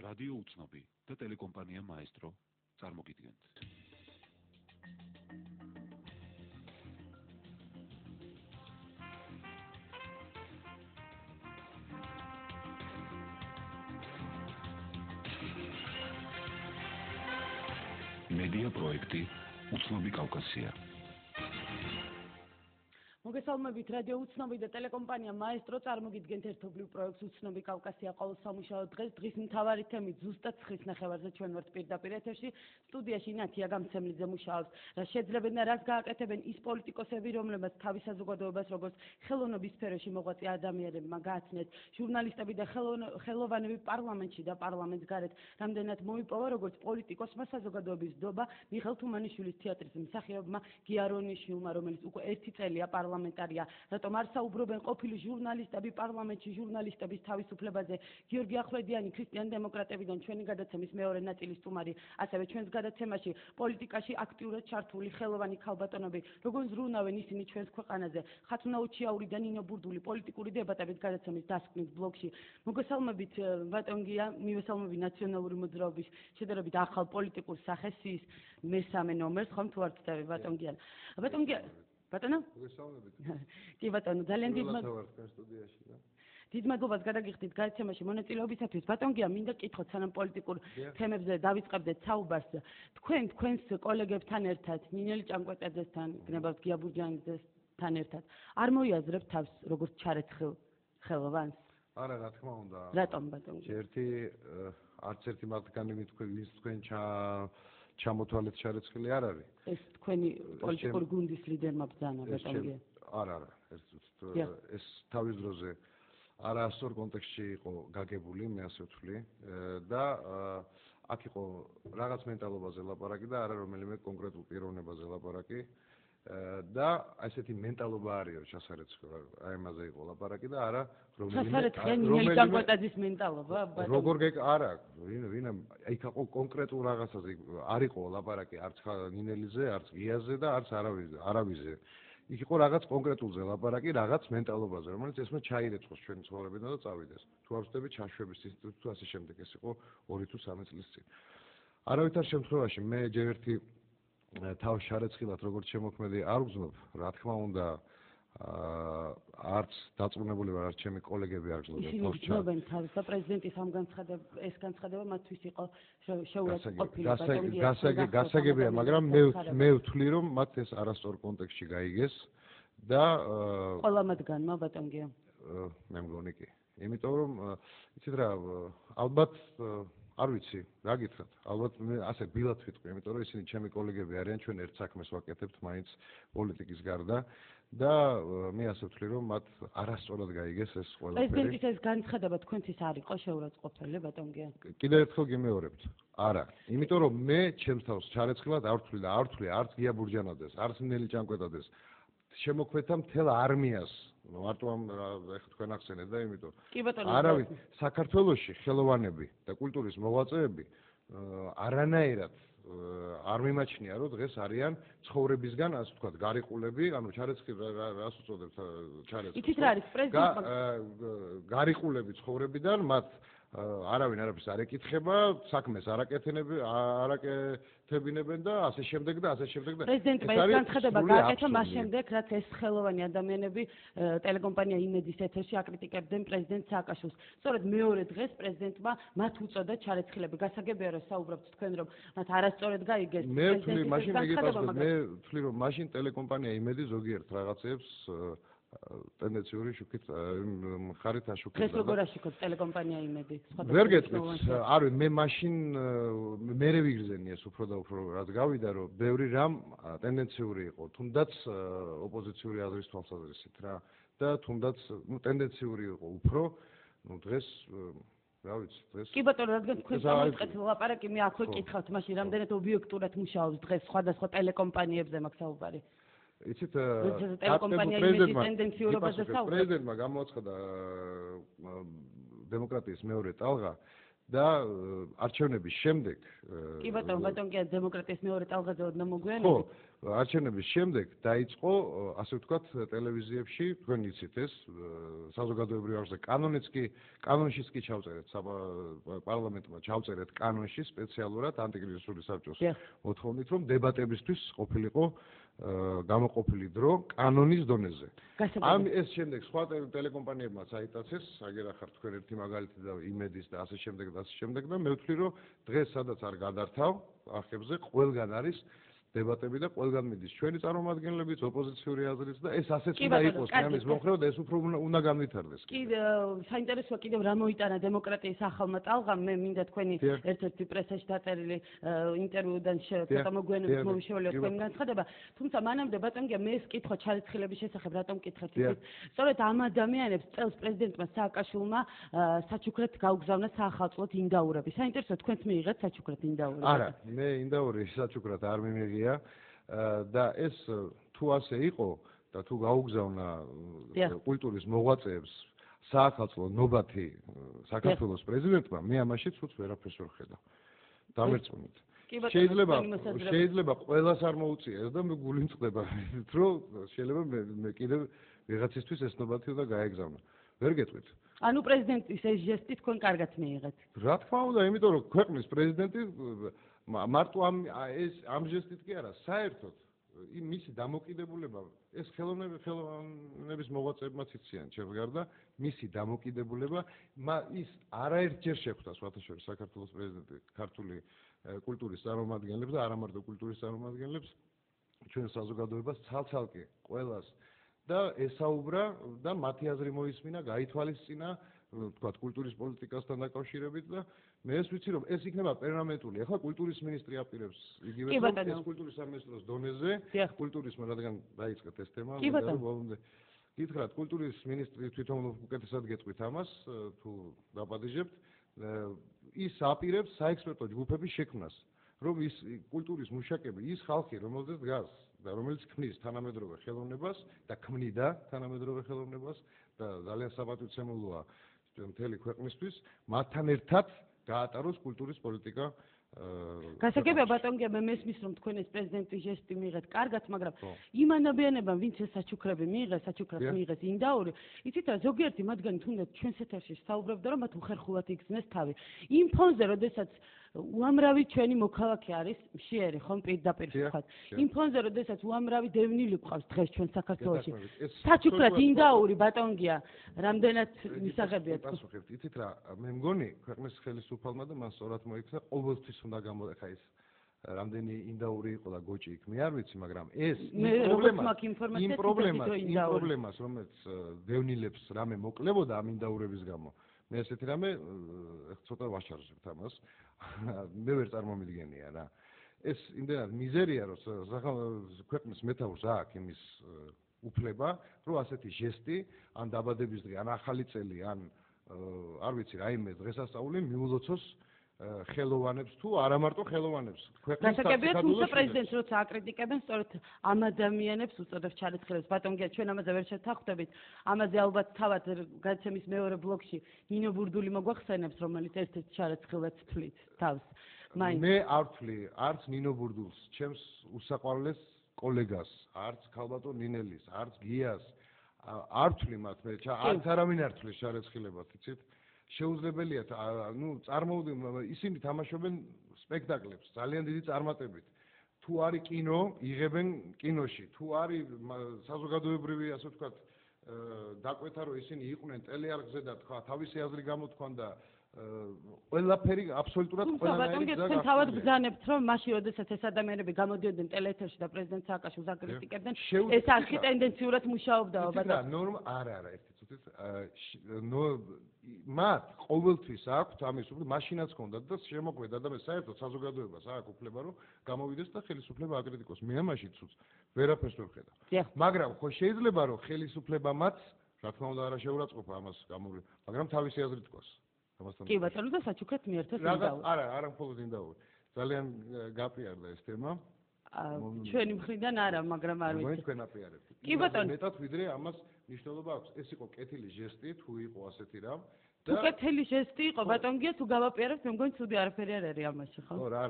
რადიო უცნობი და ტელეკომპანია მაესტრო წარმოგიდგენთ. მედია პროექტი უცნობი კავკასია. მოგესალმებით, რადიო უცნობი და ტელეკომპანია მაესტრო წარმოგიდგენთ ერთობლივ პროექტს უცნობი კავკასია ყოველ სამუშაო დღეს მთავარი თემით ზუსტად 9 ნახევარზე ჩვენ ვართ პირდაპირ ეთერში. სტუდიაში ნათია გამცემლიძე მუშაობს. რა შეძლებენ და რას გააკეთებენ ის პოლიტიკოსები, რომლებმაც თავის საზოგადოებას როგორც ხელოვნების სფეროში მოღვაწე ადამიანებმა გააცნეს, ჟურნალისტები და ხელოვანები პარლამენტში და პარლამენტს გარეთ რამდენად მოიპოვა როგორც პოლიტიკოსმა საზოგადოების დობა მიხელ თუმანიშვილის თეატრის მსახიობმა გიარონიშვილმა, რომელიც უკვე 1 წელია პარლამენტარია, რატომ არ საუბრობენ ყოფილი ჟურნალისტები პარლამენტში ჟურნალისტების თავისუფლებაზე. გიორგი ახვლედიანი ქრისტიან დემოკრატებიდან ჩვენი გადაცემის მეორე ნაწილის სტუმარი, ასევე ჩვენს გადაცემაში პოლიტიკაში აქტიურად ჩართული ხელოვანი ქალბატონები, როგორ ზრუნავენ ისინი ჩვენს ქვეყანაზე. ხათუნა უჩიაური და ნინო ბურდული პოლიტიკური დებატების გადაცემის დასკვნის ბლოგში. მოგესალმებით ბატონგია, მივესალმები ნაციონალური მოძრაობის შედარებით ახალ პოლიტიკურ სახესის მესამე ნომერს, ხომ თუ არ ვწდები ბატონგია. ბატონგია ბატონო? მოგესალმებით. კი ბატონო, ძალიან დიდ მადლობას გადაგიხდით გადაცემაში მონაწილეობისათვის. ბატონგია, მინდა გკითხოთ სანამ პოლიტიკურ თემებზე დავიწყებდეთ საუბარს. თქვენს კოლეგებთან ერთად, ნინელი ჭანკვეტაძესთან, გნებავთ გიაბურჯანიძესთან ერთად, არ მოიაზრებთ თავს როგორც ჩარეცხილ ხელოვანს? არა, რა თქმა უნდა. რატომ ბატონგია? არც ერთი მათგანი ვინც თქვენ ჩამოთვალეთ ჩარეცხილი არ არის. ეს თქვენი პოლიტიკური გუნდის ლიდერმა ბრძანა ბატონგია? არა, ეს თავის დროზე არასწორ კონტექსტში იყო გაგებული, მე ასე ვთვლი და აქ იყო რაღაც მენტალობაზე ლაპარაკი და არა რომელიმე კონკრეტულ პიროვნებაზე ლაპარაკი და ესეთი მენტალობა არისო ჩასარეცხილ, აი ამაზე იყო ლაპარაკი და არა რომელიმე ჭანკვეტაძის მენტალობა ბატონო. როგორ არა, ვინ იქ იყო კონკრეტულ რაღაცაზე არ იყო ლაპარაკი არც ნინელიზე, არც გიაზე და არც არავიზე. იქ იყო რაღაც კონკრეტულზე ლაპარაკი, რაღაც მენტალობაზე, რომელიც ესმა ჩაირეცხოს ჩვენი ცხოვრებიდან და წავიდეს. თუ არ ვწდები ჩაშვების ინსტიტუტი თუ ასე შემდეგ, ეს იყო 2 თუ 3 წლის წინ. არავითარ შემთხვევაში მე ჯერ ერთი თავს ჩარეცხილად როგორც შემოქმედი არ ვგზნობ, რა თქმა უნდა, არც დაწუნებული ვარ, არც ჩემი კოლეგები არ გზნობენ თავს ჩარեցილებას. თავს და პრეზიდენტის ამ ეს განცხადება მათთვის იყო შეურაცხმყოფილი ბატონგია. გასაგებია, მაგრამ მე ვთვლი, რომ მათ ეს არასწორ კონტექსტში გაიგეს და ყველა მათგანმა ბატონგია. მე მგონი კი. იმიტომ რომ იცით რა, ალბათ არ ვიცი, რა გითხრათ. ალბათ მე ასე ბილად ვიტყვი, იმიტომ რომ ისინი ჩემი კოლეგები არიან, ჩვენ ერთ საქმეს ვაკეთებთ მაინც პოლიტიკის გარდა და მე ასე ვთვლი, რომ მათ არასწორად გაიგეს ეს ყველაფერი. პრეზიდენტის ეს განცხადება თქვენთვის არ იყო შეურაცხმყოფელი ბატონგია? კიდევ ერთხელ გიმეორებთ. არა, იმიტომ რომ მე ჩემს თავს ჩარეცხილად არ ვთვლი და არ ვთვლი არც გიაბურჯანაძეს, არც ნინელი ჭანკვეტაძეს. შემოქმედთა მთელ არმიას. მარტო ამ ეხლა თქვენ ახსენეთ და იმიტომ არავინ საქართველოში ხელოვანები და კულტურის მოღვაწეები არანაირად არ მიმაჩნია რომ დღეს არიან ცხოვრებისგან ასე ვთქვათ გარიყულები, ანუ ჩარეცხილ რას უწოდებთ ჩარეცხილ. იცით რა არის პრეზიდენტმა გარიყულები ცხოვრებიდან მათ არავინ არაფერს არ ეკითხება, საქმეს არ აკეთებინებენ და ასე შემდეგ და ასე შემდეგ და პრეზიდენტმა ეს განცხადება გააკეთა მას შემდეგ, რაც ეს ხელოვანი ადამიანები ტელეკომპანია იმედის ეთერში აკრიტიკებდნენ პრეზიდენტ სააკაშვილს. სწორედ მეორე დღეს პრეზიდენტმა მათ უწოდა ჩარეცხილები. გასაგებია რომ საუბრობთ თქვენ რომ მათ არასწორად გაიგეს. მე ვთვლი რომ მაშინ ტელეკომპანია იმედი ზოგიერთ რაღაცებს ტენდენციური შუქით მხარით აშუქებდა. ეს როგორ აშუქებს ტელეკომპანია იმედი? ვერ გეტყვით, არ ვიცი, მე მაშინ მერე ვიგრძენი ეს უფრო და უფრო რაც გავიდა, რომ ბევრი რამ ტენდენციური იყო, თუნდაც ოპოზიციური აზრის თვალსაზრისით რა და თუნდაც ტენდენციური იყო უფრო, დღეს რა ვიცი, დღეს კი ბატონო, რადგან თქვენ წამოიწყეთ ლაპარაკი, მე აქვე კითხავთ, მაშინ რამდენად ობიექტურად მუშაობს დღეს სხვადასხვა ტელეკომპანიებზე მაგ საუბარი? იცით, პრეზიდენტმა გამოაცხადა დემოკრატიის მეორე ტალღა და არჩევნების შემდეგ კი ბატონო, ბატონგია დემოკრატიის მეორე ტალღაზე ოდნა მოგვიანებით? ხო, არჩევნების შემდეგ დაიწყო, ასე ვთქვათ, ტელევიზიებში, თქვენ იცით ეს, საზოგადოებრივ არხზე კანონშიც კი ჩავწერეთ, პარლამენტმა ჩავწერეთ კანონში სპეციალურად ანტიკრიზისული საბჭოს მოთხოვნით, რომ დებატებისთვის ყოფილიყო გამოყოფილი დრო კანონის დონეზე. ეს შემდეგ სხვა ტელეკომპანიებმაც აიტაცეს, აგერ ახარ თქვენ ერთი მაგალითი და იმედის და ასე შემდეგ და ასე შემდეგ და მე ვთვლი, რომ დღეს სადაც არ გადართავ არხებზე ყველგან არის დებატები და ყველგან მიდის ჩვენი წარმომადგენლებიც, ოპოზიციური აზრიც და ეს ასეც უნდა იყოს ამის მომხრეო და ეს უფრო უნდა განვითარდეს. კი, საინტერესოა კიდევ რა მოიტანა დემოკრატიის ახალმა ტალღამ, მე მინდა თქვენი ერთ-ერთი პრესაში დაწერილი ინტერვიუდან ცოტა მოგვიანებით მომიშველიო თქვენი განცხადება, თუმცა მანამდე ბატონგია მე ეს კითხვა ჩარიცხილების შესახებ რატომ კითხეთ, სწორედ ამ ადამიანებს წელს პრეზიდენტმა სააკაშვილმა საჩუქრად გაუგზავნა საახალწლოდ ინდაურები. საინტერესოა თქვენც მიიღეთ საჩუქრად ინდაურები? არა, მე ინდაური საჩუქრად არ მიმიღია და ეს თუ ასე იყო და თუ გაუგზავნა კულტურის მოღვაწეებს საახალწლო ნობათი საქართველოს პრეზიდენტმა, მე ამაში ცუც ვერაფერს ვერ ხედავ. დამერწმუნეთ. შეიძლება ყველას არ მოუწიეს და მე გული მწყდება, რომ შეიძლება მე კიდევ ვიღაცისთვის ეს ნობათი უნდა გაეგზავნა. ვერ გეტყვით. ანუ პრეზიდენტის ეს ჟესტი თქვენ კარგად მიიღეთ? რა თქმა უნდა, იმიტომ რომ ქვეყნის პრეზიდენტი მარტო ამ ჟესტით კი არა, საერთოდ მისი დამოკიდებულება, ეს ხელოვნების მოღვაწეებმაც იციან ჩემს გარდა, მისი დამოკიდებულება, ის არაერთჯერ შეხვდა სხვათა შორის საქართველოს პრეზიდენტი ქართული კულტურის წარმომადგენლებს და არა მარტო კულტურის წარმომადგენლებს, ჩვენ საზოგადოებას ცალ-ცალკე ყველას და ესაუბრა და მათი აზრი მოისმინა, გაითვალისწინა, ვთქვათ, კულტურის პოლიტიკასთან დაკავშირებით და მე ეს ვიცი, რომ ეს იქნება პერმანენტული. ახლა კულტურის მინისტრი აპირებს იგივე ეს კულტურის სამინისტროს დონეზე, კულტურის რადგან დაიწყეთ ეს თემა, ბოლომდე გითხრათ, კულტურის მინისტრი თვითონ უკეთესად გეტყვით ამას, თუ დაპატიჟებთ, ის აპირებს საექსპერტო ჯგუფების შექმნას, რომ ის კულტურის მუშაკები, ის ხალხი, რომელზეც დგას და რომელიც ქმნის თანამედროვე ხელოვნებას და ქმნიდა თანამედროვე ხელოვნებას და ძალიან საპატივცემულოა მთელი ქვეყნისთვის, მათთან ერთად გაატაროს კულტურის პოლიტიკა. გასაგებია ბატონგია, მე მესმის რომ თქვენ ეს პრეზიდენტის ჟესტი მიიღეთ კარგად, მაგრამ იმ ანაბიანებამ ვინც ეს საჩუქრები მიიღეს, საჩუქრებს მიიღეს ინდაური, იცით რა, ზოგიერთი მათგანი თუნდაც ჩვენს ეთერში საუბრობდა, რომ მათ უხერხულად იგრძნეს თავი. იმ ფონზე, როდესაც უამრავი ჩვენი მოქალაქე არის მშიერი, ხომ პირდაპირ ვთქვათ. იმ ფონზე, როდესაც უამრავი დევნილი გვყავს დღეს ჩვენ საქართველოში. საჩუქრად ინდაური ბატონგია, რამდენად მისაღებია თქვენ? პასუხებთ, იცით რა, მე მგონი ქვეყნის ხელისუფალმა და მან სწორად მოიქცა ყოველთვის უნდა გამოეხა ეს რამდენი ინდაური იყო და გოჭი იქ მე არ ვიცი, მაგრამ ეს იმ პრობლემას, რომელიც დევნილებს რამე მოკლებოდა ამ ინდაურების გამო, მე ესეთი რამე ცოტა ვაშარჟებთ ამას. მე ვერ წარმომიდგენია რა. ეს იმდენად მიზერია, რომ ქვეყნის მეთაურს აქვს იმის უფლება, რომ ასეთი ჟესტი, ან დაბადების დღე, ან ახალი წელი, ან არ ვიცი, რაიმე დღესასწაული მიულოცოს ხელოვანებს თუ არა მარტო ხელოვანებს. გასაგებია, თუმცა პრეზიდენტს როცა აკრიტიკებენ, სწორედ ამ ადამიანებს უწოდებს ჩარიცხილებს. ბატონგია, ჩვენ ამაზე ვერ შევთანხმდებით. ამაზე ალბათ თავად გადაცემის მეორე ბლოკში ნინო ბურდული მოგვახსენებს, რომელიც ერთ-ერთ ჩარიცხილებს თვლით თავს. მე არ ვთვლი არც ნინო ბურდულს, ჩემს უსაყვარლეს კოლეგას, არც ქალბატონ ნინელის, არც გიას, არ ვთვლი მათ, მე არც არავინ არ თვლის ჩარიცხილებად, იცით? შეუძლებელია, ისინი თამაშობენ სპექტაკლებს, ძალიან დიდი წარმატებით. თუ არის კინო, იღებენ კინოში, თუ არის საზოგადოებრივი, ასე ვთქვათ, დაკვეთა, რომ ისინი იყვნენ ტელეარხზე და თქვა, თავისი აზრი გამოთქვან და ყველაფერი აბსოლუტურად ყველანაირი გზა გახდა. თავად ბრძანებთ, რომ მაშინ, როდესაც ეს ადამიანები გამოდიოდნენ ტელეეთერში და პრეზიდენტ სააკაშვილს აკრიტიკებდნენ, ეს არხი ტენდენციურად მუშაობდაო, ბატონო. ნორმა არა, ერთი წუთით. მათ ყოველთვის აქვთ ამის უფლება, მაშინაც ჰქონდათ და შემოგვედა და მე საერთოდ საზოგადოებას აქვს უფლება, რომ გამოვიდეს და ხელისუფლება აკრიტიკოს. მე ამაში ცუც ვერაფერს ვერ ხედავ. მაგრამ ხო შეიძლება, რომ ხელისუფლებამაც, რა თქმა უნდა, არა შეურაცხყოფა ამას გამოვლენ, მაგრამ თავისი აზრი თქვას. კი ბატონო, და საჩუქრად მიერთოს ინდაური. არა მხოლოდ ინდაური. ძალიან გაპიარდა ეს თემა. ჩვენი მხრიდან არა, მაგრამ არ ვიცი. თქვენ აპიარებთ. კი ბატონო. მეტად ვიდრე ამას მნიშვნელობა აქვს. ეს იყო კეთილი ჟესტი, თუ იყო ასეთი რამ თუ კეთილი ჟესტი იყო ბატონგია თუ გავაპირებთ მე მგონი ცუდი არაფერი არ არის ამაში ხო? ხო რა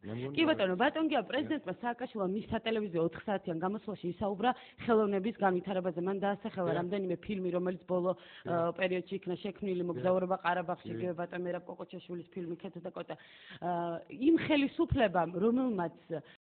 მე მგონი კი ბატონო ბატონგია პრეზიდენტმა სააკაშვილმა მის სატელევიზიო 4 საათიან გამოსვლაში ისაუბრა ხელოვნების განვითარებაზე მან დაასახელა რამდენიმე ფილმი რომელიც ბოლო პერიოდში იქნა შექმნილი მოგზაურობა ყარაბაღში იგივე ბატონ მერაბ კოკოჩაშვილის ფილმი ქეთა და კოტა იმ ხელისუფლებამ რომელმაც